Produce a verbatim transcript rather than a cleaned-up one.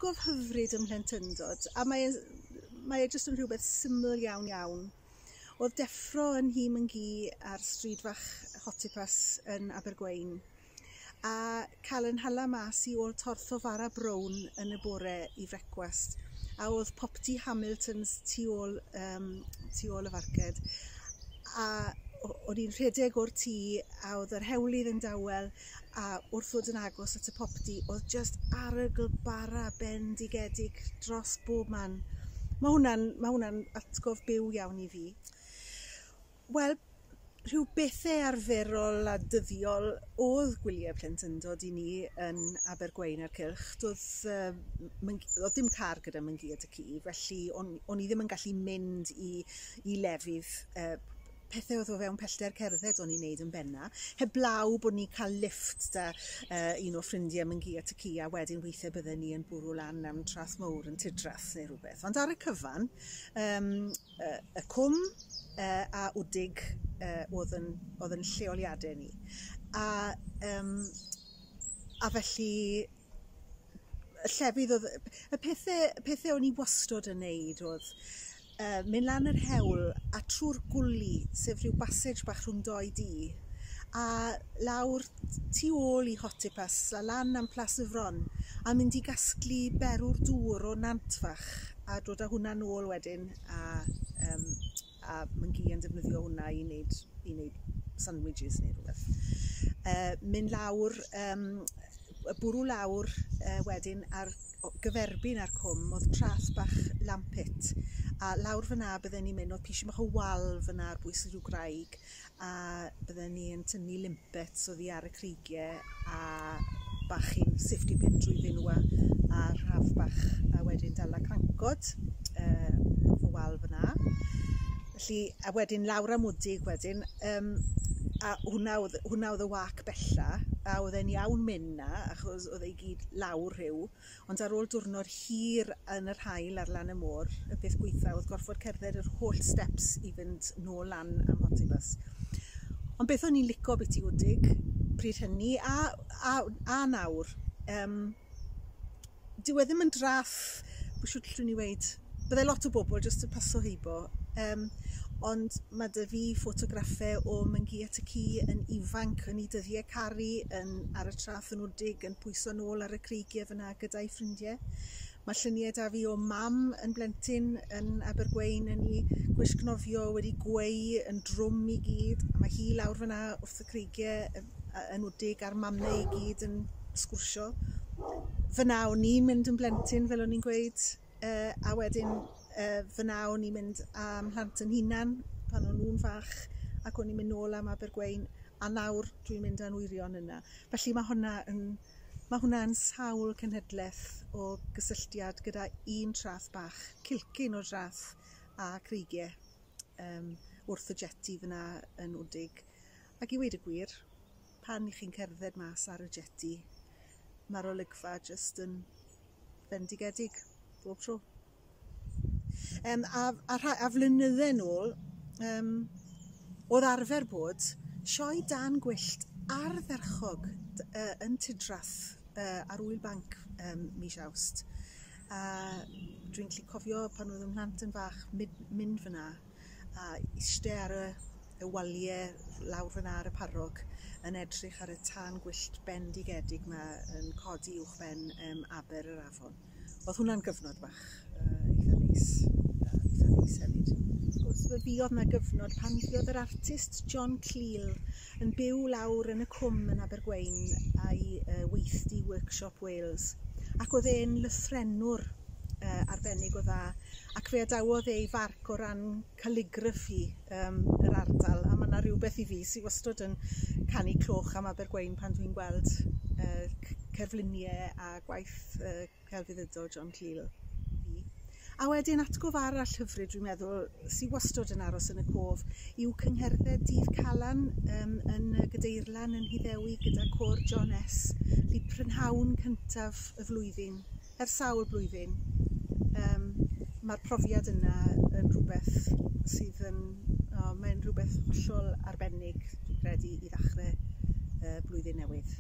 Atgof hyfryd ym mhlentyndod, a mae e, mae e jyst yn rhywbeth syml iawn iawn. Oedd deffro yn nhŷ Myn-gu ar stryd fach Hotipas yn Abergwein a cael yn hala mas i ôl torth o fara brown yn y bore i frecwast, a oedd popty Hamiltons tu ôl, um, tu ôl y farced, a o'n i'n rhedeg o'r tŷ a oedd yr hewlydd yn dawel, a wrth ddod yn agos at y popty oedd just arogl bara bendigedig dros bob man. Mae hwnna'n ma hwnna'n atgof byw iawn i fi. Wel, rhyw bethau arferol a dyddiol oedd gwyliau plentyndod i ni yn Abergwein a'r cylch. Doedd, uh, oedd dim car gyda Myn-gu a Dy-cu, felly o'n, o'n i ddim yn gallu mynd i, i lefydd uh, pethau oedd o fewn pellter cerdded o'n i'n neud yn benna, heblaw bod ni'n cael lift da uh, un o ffrindiau Myn-gu a Ty-cu, a wedyn weithiau bydden ni yn bwrw lan am Trath Mowr yn Tidrath neu rhywbeth. Ond ar y cyfan, um, uh, y cwm uh, a Wdig uh, oedd yn, oedd yn lleoliadau ni. A, um, a felly y llefydd oedd... Y pethau, pethau o'n i wastod yn neud oedd uh, mynd lan yr hewl a trwy'r gwli, sef rhyw basage bach rhwng doi dŷ, a lawr tu ôl i Hotipas a lan am Plas y Fron, a mynd i gasglu berw'r dŵr o nant fach a dod â hwnna nôl wedyn, a, um, a Myn-gu yn defnyddio hwnna i wneud, i wneud sandwiches neu rhywbeth. Uh, mynd lawr, um, bwrw lawr uh, wedyn ar gyferbyn ar cwm oedd trath bach Lampit, a lawr fyna bydden ni'n mynd, oedd pisio bach o wal fyna ar bwys rhyw graig, a bydden ni yn tynnu limpets oddi ar y creigiau a bachu'n safety pin drwyddyn nhw a, a rhaf bach, a wedyn dala crancod uh, off y wal fyna. Felly, a wedyn lawr am Wdig wedyn, um, a hwnna oedd, hwnna oedd y wac bella, a oedd e'n iawn mynd na, achos oedd e i gyd lawr rhyw, ond ar ôl diwrnod hir yn yr haul ar lan y môr, y peth gweitha oedd gorfod cerdded yr holl steps i fynd nôl lan am Hotibus. Ond beth o'n i'n lico beth i Wdig pryd hynny, a, a, a nawr, um, dyw e ddim yn draff, bwy siwt llwn i weid, byddai lot o bobl jyst yn paso heibo, um, ond mae 'da fi ffotograffau o Myn-gu a Ty-cu yn ifanc yn ei dyddiau caru yn, ar y traeth yn Wdig yn pwyso nôl ar y creigiau fyna gyda'i ffrindiau. Mae lluniau 'da fi o mam yn blentyn yn Abergwein yn ei gwisg nofio wedi gweu yn drwm i gyd. A mae hi lawr fyna wrth y creigiau yn Wdig a'r mamau i gyd yn sgwrsio. Fyna o'n i'n mynd yn blentyn, fel o'n i'n gweud, uh, a wedyn uh, fyna o'n i'n mynd am mhlant yn hunan pan o'n nhw'n fach, ac o'n i'n mynd nôl am Abergwein, a nawr dwi'n mynd â'n wyrion yna. Felly mae hwnna yn, mae hwnna yn sawl cenhedlaeth o gysylltiad gyda un traeth bach, cilcyn o draeth a creigiau um, wrth y jetty fyna yn Wdig. Ac i weud y gwir, pan i chi'n cerdded mas ar y jetty, mae'r olygfa jyst yn bendigedig bob tro. Um, a, a, a flynydde nôl, um, oedd arfer bod sioe dan gwyllt ardderchog uh, yn Tidrath uh, ar Ŵyl Banc um, mis Awst. A dwi'n gallu cofio pan oedd 'y mhlant yn fach mynd, mynd fyna a eistedd ar y, y waliau lawr fyna ar y parrog yn edrych ar y tân gwyllt bendigedig yma yn codi uwchben um, aber yr afon. Oedd hwnna'n gyfnod bach uh, eitha neis, uh, eitha neis hefyd. Wrth gwrs, fe fuodd 'na gyfnod pan fuodd yr artist John Cleal yn byw lawr yn y cwm yn Abergwein a'i uh, weithdy Workshop Wales. Ac oedd e'n lythrennwr uh, arbennig o dda, ac fe adawodd ei farc o ran calligraphy um, yr ardal, a mae yna rhywbeth i fi sydd wastad yn canu cloch am Abergwein pan dwi'n gweld uh, cerfluniau a gwaith uh, celfyddydol John Cleal. A wedyn atgof arall hyfryd dwi'n meddwl sydd wastad yn aros yn y cof yw cyngherdded Dydd Calan um, yn y Gadeirlan yn Nhyddewi gyda côr John S. Felly prynhawn cyntaf y flwyddyn, ers sawl blwyddyn. Um, mae'r profiad yna yn rhywbeth sydd yn, oh, mae'n rhywbeth hollol arbennig, dwi'n credu, i ddechrau uh, blwyddyn newydd.